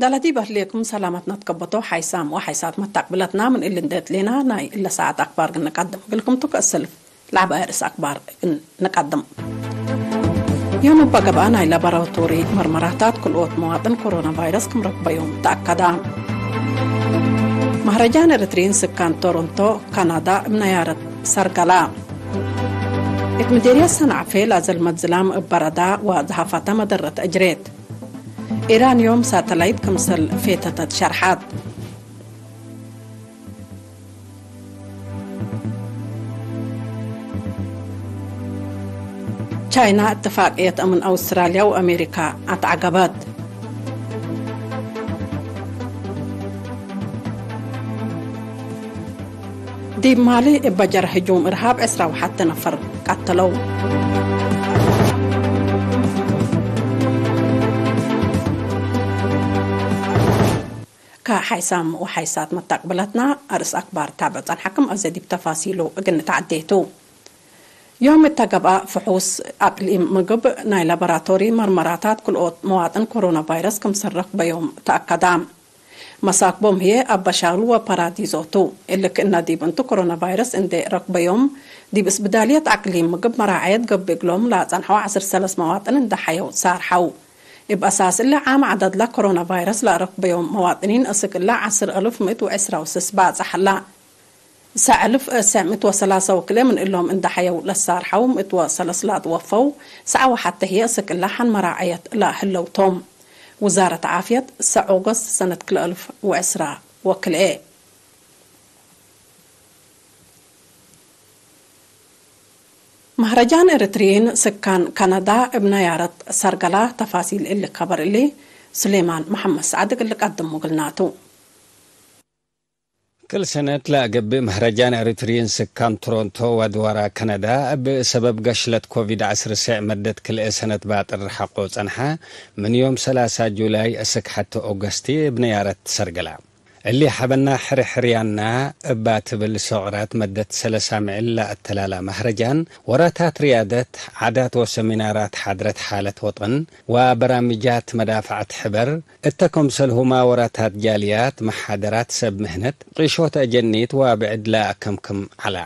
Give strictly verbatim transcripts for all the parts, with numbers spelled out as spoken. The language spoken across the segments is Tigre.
ሰላም ዲብ እህሌኩም ሰላመት ነትከበቶ ሓይሳም ወሓይሳት መታቅብለትና ምን እሊ እንዴ ትሌና ናይ እለ ሰዓት አክባር እግል ንቀድም እግልኩም ቱ። ከእሰልፍ ለዐበ አርእስ አክባር እግል ንቀድም። ዮም እበ ገብአ ናይ ላቦራቶሪ መርመራታት ክልኦት መዋጥን ኮሮና ቫይረስ ክም ረክበዮም ተአከዳ። መህረጃን ኤረትርዪን ስካን ቶሮንቶ ካናዳ እብ ነያረት ሰርገላ። እት ምዴርየት ሰንዓፌ ላዘልመት ዝላም እብ በረዳ ወዘሃፋተ መደረት እጅሬት። ኢራን ዮም ሳተላይት ክምሰል ፌተተት ሸርሐት። ቻይና እትፋቅየት አምን አውስትራልያ ወአሜሪካ አትዐገበት። ዲብ ማሊ እበ ጀረ ህጁም እርሃብ ዕስራ ወሐተ ነፈር ቀተለው። ከሓይሳም ወሓይሳት መታቅብለትና አርእስ አክባር ታብዕ ጸንሐክም፣ አዜ ዲብ ተፋሲሉ እግል ንትዓዴ ቱ። ዮም እተ ገብአ ፍሑስ አቅሊም ምግብ ናይ ላቦራቶሪ መርመራታት ክልኦት መዋጥን ኮሮና ቫይረስ ክምሰል ረክበዮም ተአከዳ። መሳክቦም ህዬ አበሻሉ ወፓራዲዞ ቱ። እሊ ክእነ ዲብ እንቱ ኮሮና ቫይረስ እንዴ ረክበዮም፣ ዲብ እስብዳልየት አቅሊም ምግብ መራዐየት ገብእ እግሎም ለአጸንሐው ዐስር ሰለስ መዋጥን እንዴ ሐየው ሳርሐው። እብ አሳስ እሊ ዓም ዐደድለ ኮሮና ቫይረስ ለአረክበዮም መዋጥኒን እስክ እለ ዐስር አልፍ ምእት ወዕስራ ወስስ ባጽሐ ዐለ። ሰዕ አልፍ ሰዕ ምእት ወሰላሳ ወክልኤ ምን እሎም እንዴ ሐየው ለሳርሐው፣ ምእት ወሰለስ ለአትወፈው፣ ሰዕ ወሐተ ህዬ እስክ እለ ሐን መራዐየት ለህለው ቶም። ውዛረት ዓፍየት፣ ሰዕ ኦገስት ሰነት ክልኤ አልፍ ወዕስራ ወክልኤ። መህረጃን ኤረትርዪን ስካን ካናዳ እብ ነያረት ሰርገላ። ተፋሲል እሊ ከበር እሊ፣ ሱሌማን መሐመድ ሰዓድ እግል ልቀድሙ እግልና ቱ። ክል ሰነት ለአገብእ መህረጃን ኤረትርዪን ስካን ቶሮንቶ ወአድዋራ ካናዳ፣ እብ ሰበብ ገሽለት ኮቪድ ዐስር ሰዕ መደት ክልኤ ሰነት ባጥር ሐቆ ጸንሐ፣ ምን ዮም ሰላሳ ጁላይ እስክ ሐተ ኦገስት እብ ነያረት ሰርገላ። እሊ ሐበና ሕርሕርያና እባ ትብል ሶቅራት መደት ሰለሳ ምዕል ለአተላላ መህረጃን፣ ወራታት ርያደት፣ ዓዳት ወሰሚናራት ሓድረት ሓለት ወጠን ወበራምጃት መዳፈዐት ሕበር፣ እተ ክምሰልሁማ ወራታት ጃልያት፣ መሓደራት ሰብ ምህነት፣ ቂሾት አጀኒት ወብዕድ ለአከምክም ዐላ።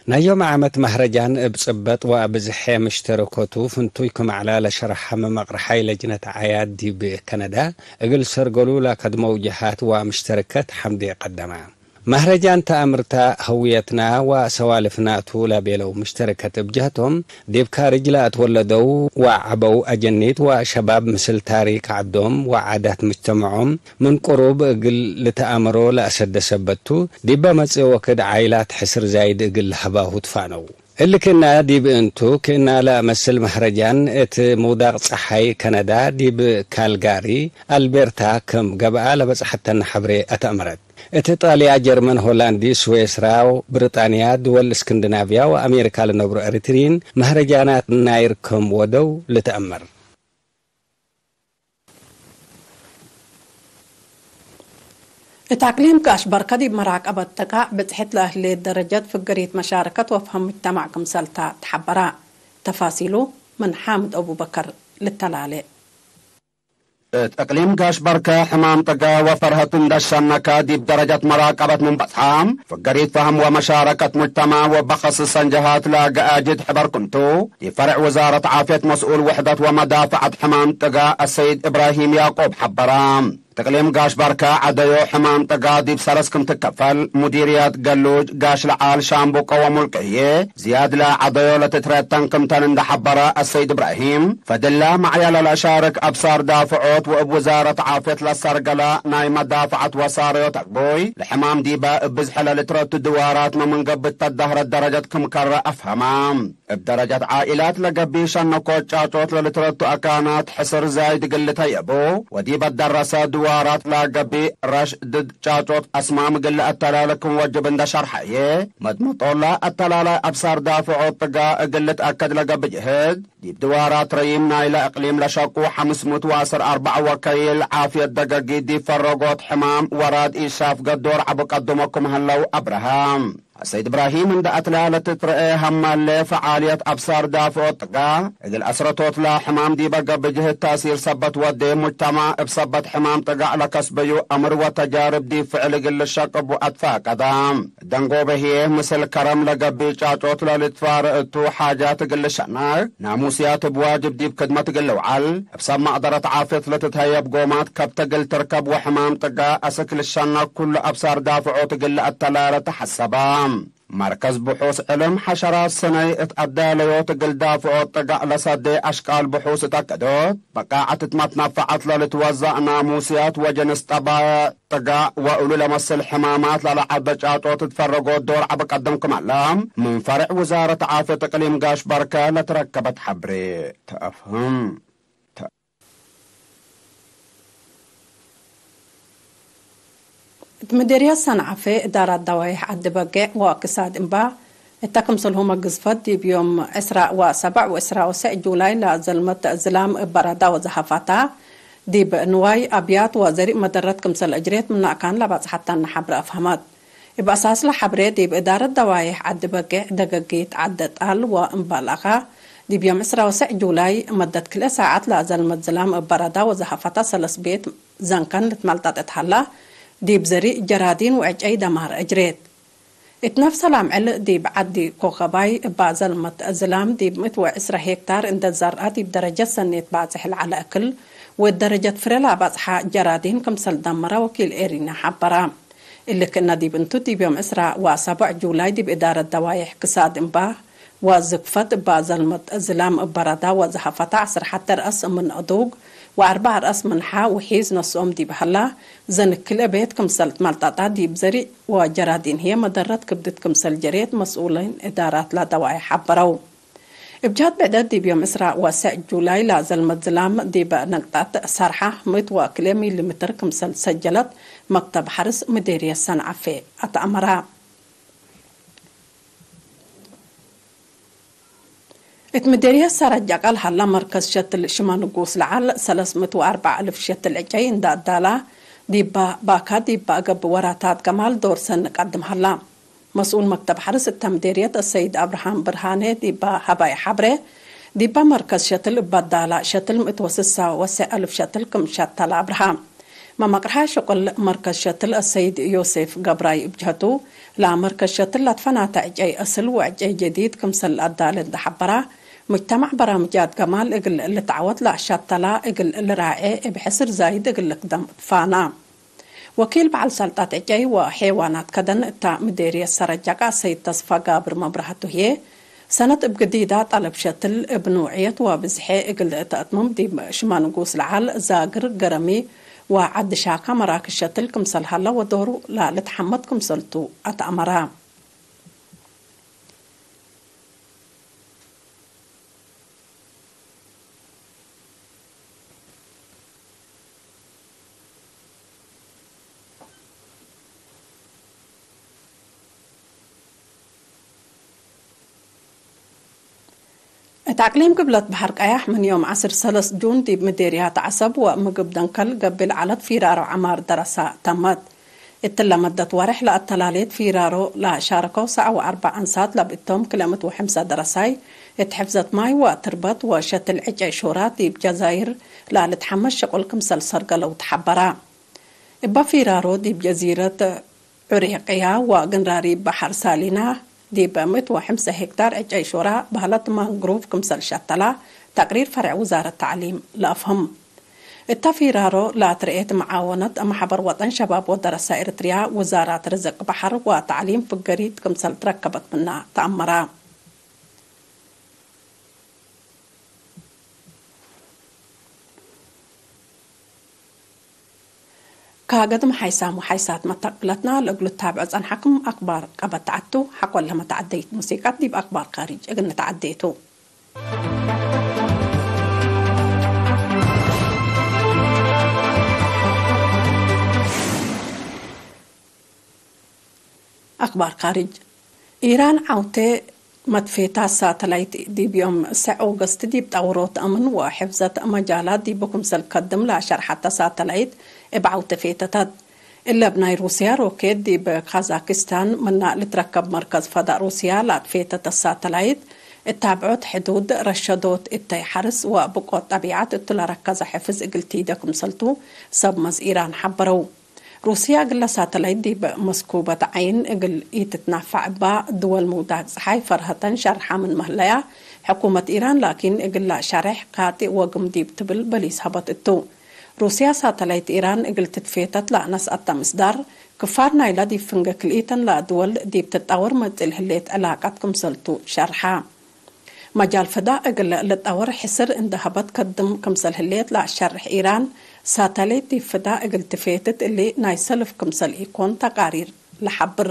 ናይ ዮም ዓመት መህረጃን እብ ጽበጥ ወአብዝሐ ምሽተረኮቱ ፍንቱይ ክም ዐላ ለሸርሐ መመቅርሓይ ለጅነት ዓያድ ዲብ ከነዳ እግል ሰርገሉ ለከድመው ጀሃት ወምሽተረከት ሐምዴ ቀደመ። መህረጃን ተአምርታ ህውየትና ወሰዋልፍና ቱ ለቤለው ምሽተረከት እብ ጀህቶም፣ ዲብ ካርጅ ለአትወለደው ወዐበው አጀኒት ወሸባብ ምስል ታሪክ ዐዶም ወዓዳት ምጅተመዖም ምን ቅሩብ እግል ልትአመሮ ለአሰደ ሰበት ቱ፣ ዲበ መጽእ ወክድ ዓይላት ሕስር ዛይድ እግል ለሀባሁ ትፋነው። እሊ ክእና ዲብ እንቱ፣ ክእና ለአመስል መህረጃን እት ምውዳቅ ጸሓይ ከነዳ ዲብ ካልጋሪ፣ አልቤርታ ክም ገብአ ለበጽሐተነ ሐብሬ አተአመረት። እት ኢጣልያ፣ ጀርመን፣ ሆላንድ፣ ስዌስራ፣ ብሪጣንያ፣ ድወል እስክንድናቭያ ወአሜሪካ ለነብሩ ኤሪትርዪን መህረጃናት ናይር ክም ወደው ልትአመር። እት አቅሊም ጋሽ በርከ ዲብ መራቀበት ጥቃዕ ብጽሕት ለህሌት ደረጀት ፍግሪት መሻረከት ወፍሀም ሙጅተማዕ ክምሰልታ ተሐበራ። ተፋሲሉ ምን ሓምድ አቡበከር ልተላሌ። እት እቅሊም ጋሽ በርከ ሕማም ጥጋ ወፈርሀቱ እንደ ሸነከ ዲብ ደረጀት መራቀበት ምን በጽሐ፣ ፍገሪት ፈህም ወመሻረከት ሙጅተማዕ ወበኸስሰን ጀሃት ለገአጅድ ሕበር ክምቱ፣ ዲብ ፈርዕ ውዛረት ዓፍየት መስኡል ውሕደት ወመዳፈዐት ሕማም ጥጋ አሰይድ እብራሂም ያዕቆብ ሐበረ። እቅሊም ጋሽ በርከ ዐደዮ ሕማም ጥጋ ዲብ ሰለስ ክም ትከፈል፣ ሙዲርየት፣ ገሉጅ፣ ጋሽ ለዓል፣ ሻምቡቆ ወሙልቅዬ፣ ዝያድ ለዐደዮ ለትትረተን ክምተን እንደ ሐበረ አሰይድ እብራሂም፣ ፈድለ መዕያለ ለአሻርክ አብሳር ዳፍዖት ወእብ ውዛረት ዓፍየት ለሰርገለ ናይ መዳፈዐት ወሳረዮት አግቡይ፣ ለሕማም ዲበ እብ ብዝሐ ለልትረቱ ድዋራት መምን ገብእ ተዳህረት ደረጀት ክም ከረ አፍሀመ። እብ ደረጀት ዓኢላት ለገብእ ሸነኮት ጫጮት ለልትረቱ አካናት ሕስር ዛይድ እግል ልተየቡ፣ ወዲበ ደረሰ ድዋራት ለገብእ ረሽ ድድ ጫጮት አስማም እግል ለአተላለ ክም ወጅብ እንደ ሸርሐየ፣ መድመጦላ አተላላይ አብሳር ዳፍዖት ጥጋ እግል ልትአከድ ለገብእ ጅህድ፣ ዲብ ድዋራት ረዪም ናይለ እቅሊም ለሸቁ ሐምስ ምእት ወዐስር አርበዕ ወከይል ዓፍየት ደገጊት ዲብ ፈረጎት ሕማም ወራድ ኢሻፍ ገዶር ዐቢ ቀድሞ ክም ህለው አብረሀ። ሰይድ እብራሂም እንደ አትላ ለትትረኤ ሀማሌ ፈዓልየት አብሳር ዳፍዖት ጥጋዕ እግል አስረቶትላ ሕማም ዲበ ገብእ ጅህት ታእሲር ሰበት ወዴ ሙጅተማዕ እብ ሰበት ሕማም ጥጋዕ ለከስበዩ አምር ወተጃርብ ዲብ ፍዕል እግል ልሸቅቡ አትፋቀደ። ደንጎበ ህዬ ምስል ከረም ለገብእ ጫጮት ለልትፋረእ እቱ ሓጃት እግል ልሸነዕ ናሙስያት እብ ዋጅብ ዲብ ክድመት እግል ልውዓል እብ ሰብ መቅደረት ዓፍየት ለትትሀየብ ጎማት ከብት እግል ትርከብ ወሕማም ጥጋዕ አስክ ልሸነዕ ኩሉ አብሳር ዳፍዖት እግል ለአተላለ ተሐሰበ። መርከዝ ብሑስ ዕልም ሐሸራት ሰነይ እት አዳለዮት እግል ዳፍዖት ጥጋዕ ለሰዴ አሽቃል ብሑስ እት አከዶት በቃዐት እት መትነፈዐት ለልትወዘዕ ናሙስያት ወጅንስ ጠባይዕ ጥጋዕ ወእሉ ለመስል ሕማማት ለለዐበ ጫጦት እት ፈረጎት ዶር ዐቢ ቀደም ክም ዐለ፣ ምን ፈርዕ ውዛረት ዓፍየት እቅሊም ጋሽ በርከ ለትረከበት ሐብሬ ተአፍህም። እት ምዴርየት ሰንዓፌ እዳራት ደዋይሕ ዐዲ በጌዕ ወእክሳድ እምባ፣ እተ ክምሰልሁመ ግዝፈት ዲብ ዮም ዕስራ ወሰብዕ ወዕስራ ወሰዕ ጁላይ ለዘልመት ዝላም እብ በረዳ ወዘሀፋታ፣ ዲብ ንዋይ፣ አብያት ወዘሪእ መደረት ክምሰል እጅሬት ምነ አካን ለባጽሐተነ ሐብረ አፍሀመት። እብ አሳስለ ሐብሬ፣ ዲብ እዳረት ደዋይሕ ዐዲ በጌዕ ደገጊት ዐዲ ጣል ወእምባል አኻ፣ ዲብ ዮም ዕስራ ወሰዕ ጁላይ መደት ክልኤ ሳዐት ለዘልመት ዝላም እብ በረዳ ወዘሀፋታ ሰለስ ቤት ዘንከን ልትመልጠጥ እት ሀላ፣ ዲብ ዘሪእ ጀራዲን ወዕጨይ ደማር እጅሬት። እት ነፍሰ ላምዕል ዲብ ዐዲ ኮከባይ እባ ዘልመት ዝላም ዲብ ምእት ወዕስራ ሄክታር እንዴ ዘርአ ዲብ ደረጀት ሰኔት ባጽሕ ለዐለ እክል ወእት ደረጀት ፍሬ ለአባጽሐ ጀራዲን ክምሰል ደመረ ወኪል ኤሪና ሐበረ። እሊ ክእነ ዲብ እንቱ ዲብ ዮም ዕስራ ወሰብዕ ጁላይ ዲብ እዳረት ደዋይሕ ክሳድ እምባ ወዝግፈት እባ ዘልመት ዝላም እብ በረዳ ወዘሀፈተ ዐስር ሐተ ረአስ ምን አዱግ ወአርበዕ ረአስ ምን ሐ ውሒዝ ነስኦም ዲብ ሀላ፣ ዘንክል እቤት ክምሰል ትመልጠጠ ዲብ ዘሪእ ወጀራዲን ህዬ መደረት ክብድት ክምሰል ጀሬት መስኡሊን እዳራት ለደዋይሕ ሐበረው። እብ ጀሀት ብዕደት ዲብ ዮም ዕስራ ወሰዕ ጁላይ ለዘልመት ዝላም ዲብ ነቅጠት ሰርሐ ምእት ወክልኤ ሚሊ ምትር ክምሰል ሰጀለት መክተብ ሐርስ ምዴርየት ሰንዐፌ አትአመረ። እት ምዴርየት ሰረጀቃ ለሀላ መርከዝ ሸትል ሽመ ንጉስ ለዐል ሰለስ ምእት ወአርበዕ አልፍ ሸትል ዕጨይ እንደ አዳላ፣ ዲባ ባካ ዲብ አገብ ወራታት ገማል ዶር ሰኒ ቀድም ሀላ። መስኡል መክተብ ሐርስ እተ ምዴርየት አሰይድ አብርሃም ብርሃኔ ዲባ ሀባይ ሐብሬ፣ ዲባ መርከዝ ሸትል እብ አዳላ ሸትል ምእት ወስሳ ወሰዕ አልፍ ሸትል ክም ሸተለ አብርሃ። መመቅርሐ ሽቁል መርከዝ ሸትል አሰይድ ዮሴፍ ገብራይ እብ ጀህቱ፣ ለመርከዝ ሸትል ለትፈናተ ዕጨይ አስል ወዕጨይ ጀዲድ ክምሰል ለአዳለ እንዴ ሐበራ፣ ሙጅተማዕ በራምጃት ገማል እግል ልትዐወት ለአሻተላ እግል ልራዔ እብ ሕስር ዛይድ እግል ልክደም ትፋና። ወኪል በዐል ሰልጣት ዕጨይ ወሔዋናት ከደን እታ ምዴርየት ሰረጀቃ ሰይድ ተስፋ ጋብር መብራህቱ ህዬ፣ ሰነት እብ ግዲዳ ጠለብ ሸትል እብ ኑዕየት ወብዝሔ እግል ተአትምም ዲብ ሽመ ንጉስ ለዐል ዛግር ገረሚ ወዐዲ ሻካ መራክዝ ሸትል ክምሰል ሀለ ወዶሩ ለልትሐመድ ክምሰልቱ አትአመረ። እት አቅሊም ግብለት በሐር ቀያሕ ምን ዮም ዐስር ሰለስ ጁን ዲብ ምዴርያት ዐሰብ ወምግብ ደንከል ገብእ ለዐለት ፊራሮ ዐማር ደረሳ ተመት። እትለ መደት ወሬሕ ለአተላሌት ፊራሮ ለሻረከው ሰዕ ወአርበዕ አንሳት ለብእቶም ክልኤ ምእት ወሐምሳ ደረሳይ እት ሕፍዘት ማይ ወትርበት ወሸትል ዕጨይ ሹራ ዲብ ጀዛይር ለልትሐመስ ሸቁል ክምሰል ሰርገለው ተሐበራ። እበ ፊራሮ ዲብ ጀዚረት ዑሬቅያ ወግንራሪ በሐር ሳሊና ዲብ ምእት ወሐምሰ ሄክታር ዕጨይ ሹራ በህለት ማንግሩቭ ክምሰል ሸተላ ተቅሪር ፈርዕ ውዛረት ተዕሊም ለአፍህም። እተ ፊራሮ ለአትርኤት መዓወነት መሕበር ወጠን ሸባብ ወደረሳ ኤረትርያ ውዛራት ርዝቅ በሐር ወተዕሊም ፍገሪት ክምሰል ትረከበት ምና ተአመራ። ከገድም ሓይሳም ወሓይሳት መተቅብለትና ለእግሉ ትታብዖ ጸንሐክም አክባር ቀበት ተዐቱ። ሐቆለ መተዐደይት ሙሲቀት ዲብ አክባር ካሪጅ እግል ንተዐዴ ቱ። አክባር ካርጅ። ኢራን ዐውቴ መትፌታት ሳተላይት ዲብ ዮም ሰዕ ኦገስት ዲብ ጠውሮት አምን ወሕፍዘት መጃላት ዲቡ ክምሰል ከድም ለአሸርሐተ ሳተላይት እብ ዐውቴ ፌተተት። እለ እብ ናይ ሩስያ ሮኬት ዲብ ካዛክስታን ምና ልትረከብ መርከዝ ፈዳእ ሩስያ ለአትፌተተ ሳተላይት፣ እታብዖት ሕዱድ፣ ረሸዶት እተይ ሐርስ ወብቆት ጠቢዐት እቱ ለረከዘ ሕፍዝ እግል ቲደ ክምሰልቱ ሰብ መዝ ኢራን ሐበረው። ሩስያ እግለ ሳተላይት ዲብ መስኩበት ዐይን እግል ኢትትናፋዕ እባ ድወል ምውዳግ ጸሓይ ፈርሀተን ሸርሓ ምን መህለያ፣ ሕኩመት ኢራን ላኪን እግላ ሸሬሕ ካጢእ ወግም ዲብ ትብል በሊስ ሀበት እቱ። ሩስያ ሳተላይት ኢራን እግል ትትፌተት ለአነስአተ ምስዳር፣ ክፋር ናይላ ዲብ ፍንጌ ክልኢተን ለድወል ዲብ ትጣወር መጽእ ለህሌት ዕላቀት ክምሰልቱ ሸርሓ። መጃል ፍዳእ እግል ልጣወር ሕስር እንዴ ሀበት ከድም ክምሰል ህሌት ለአሸርሕ ኢራን፣ ሳተላይት ዲብ ፍዳእ እግል ትፌትት እሊ ናይ ሰልፍ ክምሰል ኢኮን ተቃሪር ለሐብር።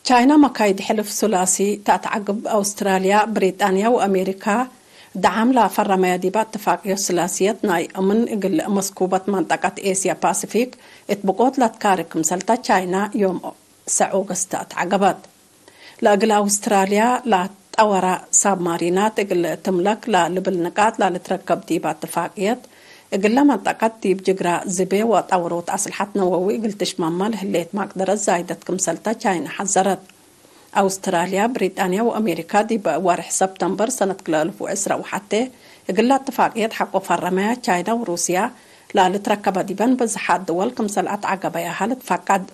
ቻይና መካይድ ሕልፍ ሱላሲ ተአትዐግብ፣ አውስትራልያ፣ ብሪጣንያ ወአሜሪካ ደዓም ለፈረመያ ዲበ እትፋቅዮት ሱላስየት ናይ አምን እግል መስኩበት መንጠቀት ኤስያ ፓሲፊክ እት ብቆት ለትካርግ ክምሰልተ ቻይና ዮም ሰዕ ኦገስት አትዐገበት። ለእግል አውስትራልያ ለአትጠወራ ሳብማሪናት እግል ትምለክ ለልብል ንቃጥ ለልትረከብ ዲበ እትፋቅየት፣ እግለ መንጠቀት ዲብ ጅግራ ዝቤ ወጠውሮት አስልሐት ነወዊ እግል ትሽመመ ለህሌት መቅደረት ዛይደት ክምሰልተ ቻይና ሐዘረት። አውስትራልያ፣ ብሪጣንያ ወአሜሪካ ዲብ ወርሕ ሰብተምበር ሰነት ክልኤ አልፍ ወዕስራ ወሐቴ እግለ እትፋቅየት ሐቆ ፈረመያ። ቻይና ወሩስያ ለልትረከበ ዲበን ብዝሓት ድወል ክምሰል አትዐገበያሀ ልትፈቀድ።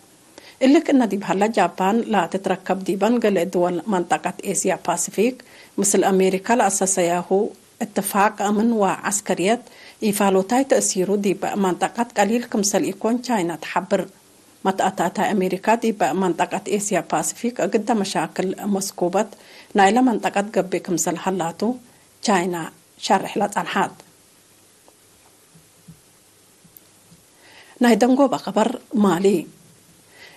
እሊ ክእነ ዲብ ሀለ፣ ጃፓን ለትትረከብ ዲበን ገሌ ድወል መንጠቀት ኤስያ ፓሲፊክ፣ ምስል አሜሪካ ለአሰሰያሁ እትፋቅ አምን ወዐስከርየት፣ ኢፋሎታይ ተእሲሩ ዲብ መንጠቀት ቀሊል ክምሰል ኢኮን ቻይና ተሐብር። መትአታታይ አሜሪካ ዲብ መንጠቀት ኤስያ ፓሲፊክ እግደ መሻክል መስኩበት ናይለ መንጠቀት ገብእ ክምሰል ሀላቱ ቻይና ሸርሕ ለጸንሐት። ናይ ደንጎበ ከበር ማሊ።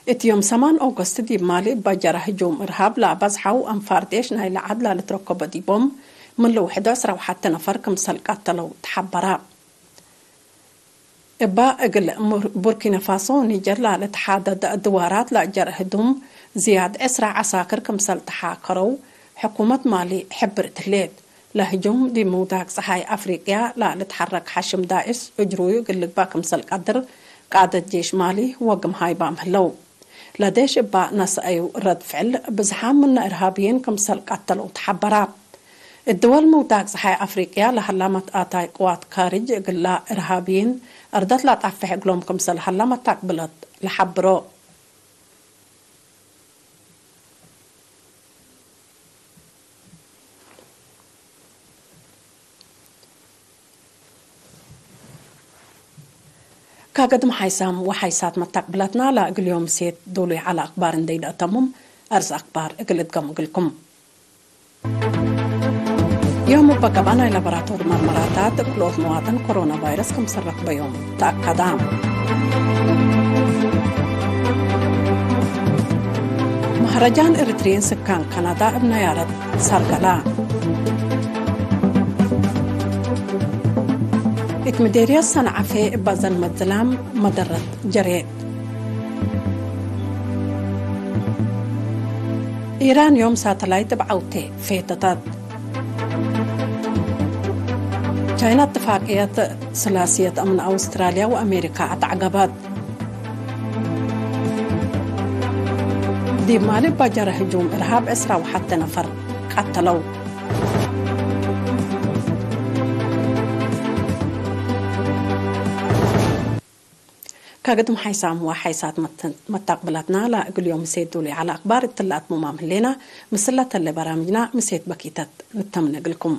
እት ዮም ሰማን ኦገስት ዲብ ማሊ እበ ጀረ ህጁም እርሃብ ለአበዝሐው አንፋር ዴሽ ናይለ ዐድ ለልትረከቦ ዲቦም ምን ልውሕዶ ዕስራ ወሐቴ ነፈር ክምሰል ቀተለው ተሐበረ። እበ እግል ሙር-፣ ቡርኪነ ፋሶ ወኒጀር ለልትሓደድ ድዋራት ለአጀረ ህጁም ዝያድ ዕስራ ዐሳክር ክምሰል ተሓከረው ሕኩመት ማሊ ሕብርት ህሌት። ለህጁም ዲብ ምውዳቅ ጸሓይ አፍሪቅያ ለልትሐረክ ሐሽም ዳእሽ እጅሩዩ እግል ልግበእ ክምሰል ቀድር ቃደት ጄሽ ማሊ ወግምሃይ ባም ህለው። ለዴሽ እባ ነስአዩ ረድ ፍዕል ብዝሓም ምነ እርሃብይን ክምሰል ቀተለው ተሐበራ። እት ድወል ምውዳቅ ጸሓይ አፍሪቅያ ለሀላ መትአታይ ቅዋት ካርጅ እግላ እርሃብይን አርደት ለአጣፍሕ እግሎም ክምሰል ሀላ መታቅብለት ለሐብሮ። ከገድም ሓይሳም ወሓይሳት መታቅብለትና ለእግል ዮም ምሴት ዶሉይ ዐለ አክባር እንዴ ኢለአተምም፣ አርስ አክባር እግል እድገም እግልኩም። ዮም እበ ገብአ ናይ ላቦራቶሪ መርመራታት ክልኦት መዋጥን ኮሮና ቫይረስ ክምሰል ረክበዮም ተአከዳ። መህረጃን ኤሪትርዪን ስካን ካናዳ እብ ነያረት ሰርገላ። እት ምዴርየት ሰንዐፌ እበ ዘልመት ዝላም መደረት ጀሬት። ኢራን ዮም ሳተላይት እብ ዐውቴ ፌተተት። ቻይና እትፋቅየት ስላስየት አምን አውስትራልያ ወአሜሪካ አትዐገበት። ዲብ ማሊ እባ ጀረ ህጁም እርሃብ ዕስራ ወሐቴ ነፈር ቀተለው። ከግድም ሓይሳም ወሓይሳት መት-፣ መታቅብላትና ለእግል ዮም ምሴት ዶሉይ ዐለ አክባር እትለ አትሙማም ህሌና። ምስለ ተሌ በራምጅና ምሴት በኪተት ንተምነ እግልኩም።